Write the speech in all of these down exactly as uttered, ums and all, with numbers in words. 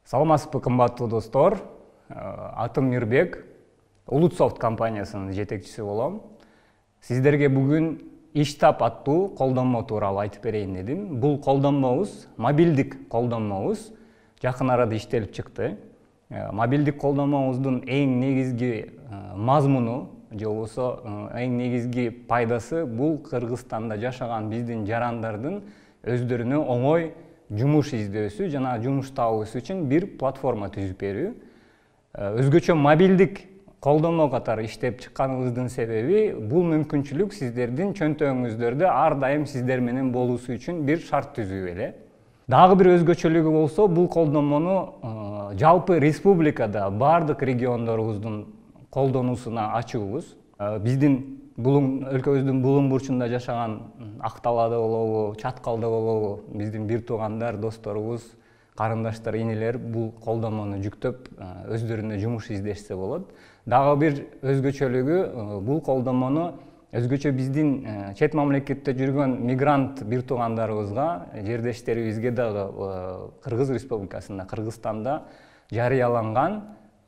Саламатсызбы, кымбаттуу достор. Атым Мирбек, Улутсофт компаниясынын жетекчиси болом. Сиздерге бүгүн Иштап аттуу колдонмо тууралуу айтып берейин дедим. Бул колдонмобуз мобилдик колдонмобуз жакын арада иштелип чыкты. Мобилдик колдонмобуздун эң негизги мазмуну же болбосо эң негизги пайдасы бул Кыргызстанда жашаган биздин жарандардын өздөрүнө оңой жумуш издөөсү жана жумуш табуусу үчүн бир платформа түзүп берүү. Өзгөчө мобилдик колдонмо катары иштеп чыкканыбыздын себеби бул мүмкүнчүлүк сиздердин чөнтөгүңүздөрдө ар дайым сиздер менен болуусу үчүн бир шарт түзүү эле. Дагы бир өзгөчөлүгү болсо, бул колдонмону жалпы республикада бардык региондорубуздун колдонуусуна ачуубуз. Биздин өлкөбүздүн булуң бурчунда жашаган Акталада болобу, Чаткалда болобу, биздин бир туугандар, досторубуз, карындаштар, инелер бул колдонмону жүктөп өздөрүнө жумуш издешсе болот. Дагы бир өзгөчөлүгү бул колдонмону өзгөчө биздин чет мамлекетте жүргөн мигрант бир туугандарыбызга, жердештерибизге дагы Кыргыз Республикасында, Кыргызстанда жарыяланган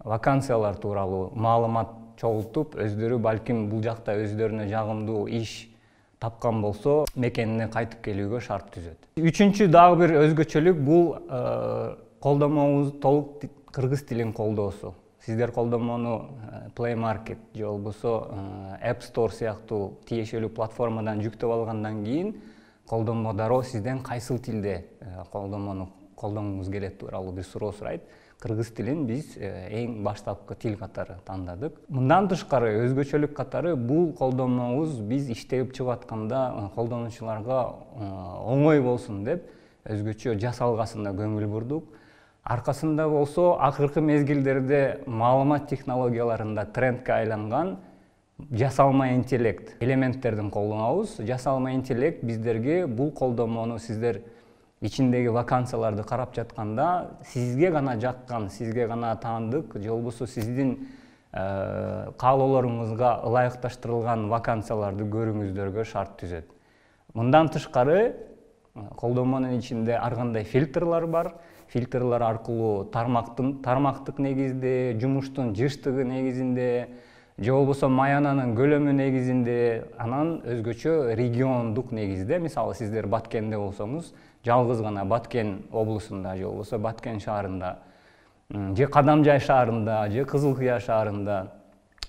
вакансиялар тууралуу маалымат чогултуп, өздөрү балким бул жакта өздөрүнө жагымдуу иш тапкан болсо, мекенине кайтып келүүгө шарт түзөт. Үчүнчү дагы бир өзгөчөлүк бул колдонмобуз толук кыргыз тилин колдоосу. Сиздер колдонмону Play Market же болбосо App Store сыяктуу тиешелүү платформадан жүктөп алгандан кийин колдонмо дароо сизден кайсыл тилде колдонмону колдонгуңуз келет тууралуу бир суроо сурайт. Кыргыз тилин биз эң баштапкы тил катары тандадык. Мындан тышкары өзгөчөлүк катары бул колдонмобуз биз иштеп чыгып атканда колдонуучуларга оңой болсун деп өзгөчө жасалгасына көңүл бурдук. Аркасында болсо акыркы мезгилдерде маалымат технологияларында трендке айланган жасалма интеллект элементтердин колдонобуз. Жасалма интеллект биздерге бул колдонмону сиздер ичиндеги вакансияларды карап жатканда сизге гана жаккан, сизге гана таандык же болбосо сиздин каалоолоруңузга ылайыкташтырылган вакансияларды көрүүңүздөргө шарт түзөт. Мындан тышкары колдонмонун ичинде ар кандай фильтрлар бар. Фильтрлар аркылуу тармактын тармактык негизде, жумуштун жыштыгы негизинде, же болбосо маянанын көлөмү негизинде, анан өзгөчө региондук негизде, мисалы сиздер Баткенде болсоңуз, жалгыз гана Баткен облусунда же болбосо Баткен шаарында, же Кадамжай шаарында, же Кызыл Кыя шаарында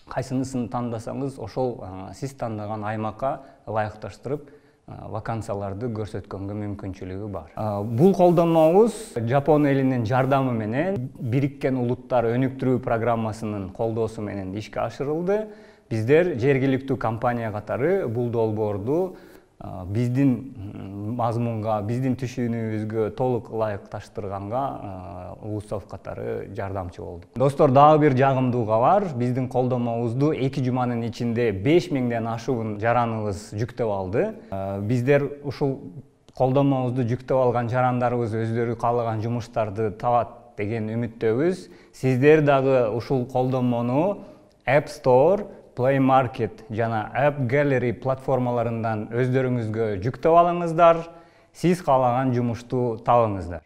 кайсынысын тандасаңыз, ошол сиз тандаган аймакка ылайыкташтырып вакансияларды көрсөткөнгө мүмкүнчүлүгү бар. Бул колдонмобуз Жапон элинин жардамы менен Бириккен Улуттар өнүктүрүү программасынын колдоосу менен ишке ашырылды. Биздер жергиликтүү компания катары бул долбоорду биздин мазмунга, биздин түшүнүүбүзгө толук ылайыкташтырганга Улутсофт катары жардамчы болдук. Достор, дагы бир жагымдуу кабар. Биздин колдонмобузду эки жуманын ичинде беш миңден ашуун жараныбыз жүктөп алды. Биздер ушул колдонмобузду жүктөп алган жарандарыбыз өздөрү каалаган жумуштарды табат деген үмүттөбүз. Сиздер дагы ушул колдонмону App Store, Play Market жана App Gallery платформаларынан өздөрүңүзгө жүктөп алыңыздар. Сиз каалаган жумушту табыңыздар.